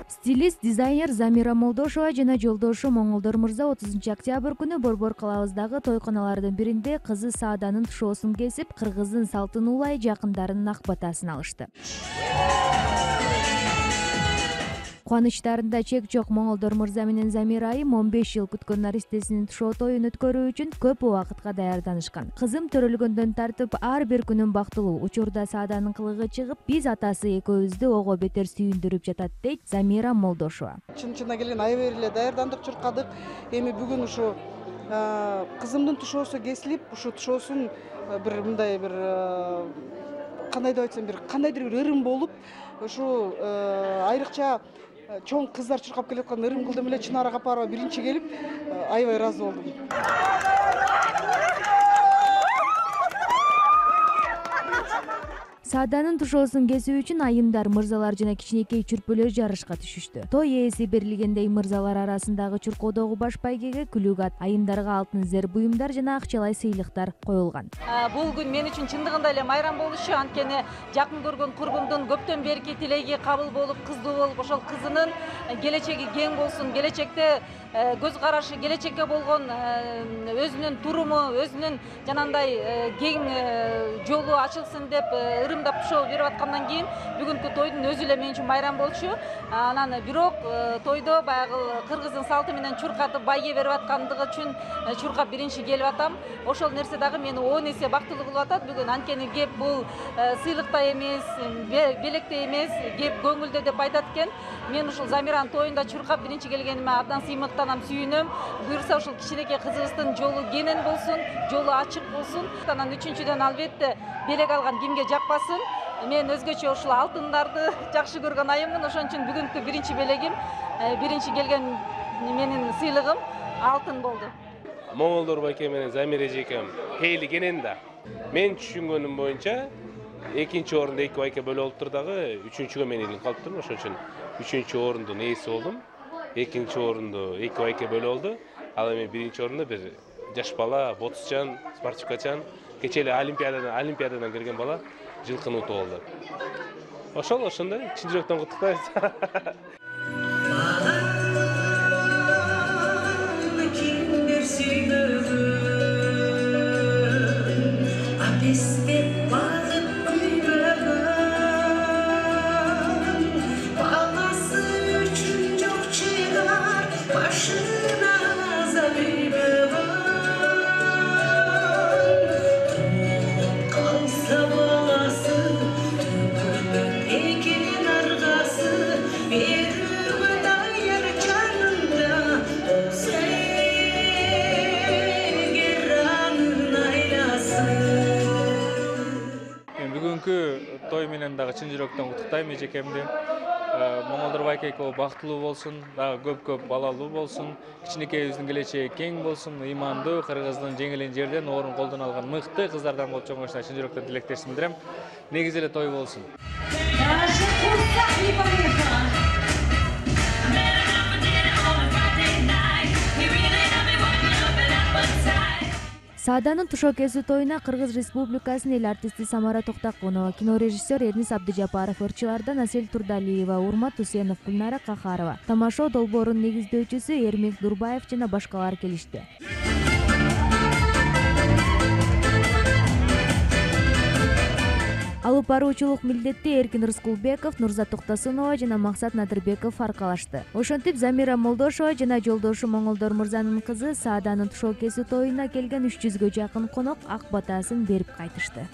Стилист, дизайнер Замира Молдошова жана жолдошу Моңолдор мырза 30 октябрь күнү Борбор калабыздагы тойканалардын биринде кызы Сааданын тушоосун кесип, кыргыздын салтын улай жакындарынын ак батасын алышты. Кубанычтарында чек жок Моңолдор мырза менен Замира айым 15 жыл күткөн наристесинин тушоо тоюн өткөрүү үчүн көп убакытка даярданышкан. Кызым төрөлгөндөн тартып ар бир күнүм бактылуу. Учурда Сааданын кылыгы чыгып, биз атасы экөөбүздү ого бетер сүйүндүрүп жатат, дейт Замира Молдошова. Чын-чынына келген аябай эле даярдандык, чуркадык. Эми бүгүн ушу кызымдын тушоосу кесилип, ушу тушоосун бир мындай бир кандай деп айтсам, кандайдыр бир ырым болуп, ушу айрыкча чоң кыздар чуркап келаткан ырым кылдым эле Чынар Капарова биринчи келип, аябай ыраазы болдум. Сааданын тушоосун кесүү үчүн айымдар, мырзалар жана кичинекей чүрпөлөр жарышка түшүштү. Той ээси берилгендей мырзалар арасындагы чуркоодогу баш байгеге күлүгат, айымдарга алтын зер буюмдар жана акчалай сыйлыктар коюлган. Бул күн мен үчүн чындыгында эле майрам болушу, анткени жакын көргөн курбумдун көптөн берки тилеги кабыл болуп, кыздуу болуп, ошол кызынын келечеги кең болсун, келечекте көз карашы, келечекке болгон өзүнүн туруму, өзүнүн жанагындай кең жолу ачылсын деп ырымдап тушоо берип аткандан кийин бүгүнкү тойдун өзү эле мен үчүн майрам болчу. Анан бирок тойдо баягы кыргыздын салты менен чуркатып байге берип аткандыгы үчүн чуркап биринчи келип атам. Ошол нерсе дагы мени 10 эсе бактылуу кылып атат бүгүн. Анткени кеп бул сыйлыкта эмес, белекте эмес, кеп көңүлдө деп айтат экен. Мен ушул Замиранын тоюнда чуркап биринчи келгениме абдан сыймыктанам, сүйүнөм. Буюрса ушул кичинекей кызыбыздын жолу кенен болсун, жолу ачык болсун. Анан үчүнчүдөн албетте белек алган кимге жакпасын. Мен өзгөчө ушул алтындарды жакшы көргөн айыммын. Ошон үчүн бүгүнкү биринчи белегим, биринчи келген менин сыйлыгым алтын болду. Моңолдор байке менен Замира эжекем пейли кенен да. Мен түшүнгөнүм боюнча экинчи орунду эки байке бөлүп алыптыр дагы, үчүнчүгө мен илинип калыптырмын. Ошон үчүн үчүнчү орундун ээси болдум. Экинчи орунду эки байке бөлүп алды. Ал эми биринчи орунда бир жаш бала, ботсчан, спортчукачан, кечээ эле олимпиададан келген бала жылкыны утуп алды. Ошондой чын жүрөктөн куттуктайбыз. Той менен дагы чын жүрөктөн куттуктайм эжекемди. Моңолдор байке экөө бактылуу болсун, дагы көп балалуу болсун, кичинекейибиздин келечеги кең болсун, ыймандуу, кыргыздын жеңилин жерден, орун колдон алган мыкты кыздардан болуп чоңоюшуна чын жүрөктөн тилектешимди билдирем. Негизи эле той болсун. Сааданын тушоо кесүү тоюна Кыргыз Республикасынын эл артисти Самара Токтокунова, кинорежиссер Эрнис Абдыжапаров, ырчылардан Асель Турдалиева, Урмат Усенов, Гүлнара Кахарова, тамашоо долбоорунун негиздөөчүсү Эрмек Дурбаев жана башкалар келишти. Алып баруучулук милдетти Эркин Рыскулбеков, Нурзат Токтосунова жана Максат Надырбеков аркалашты. Ошентип Замира Молдошова жана жолдошу Моңолдор мырзанын кызы Сааданын тушоо кесүү тоюна келген 300гө жакын конок ак батасын берип кайтышты.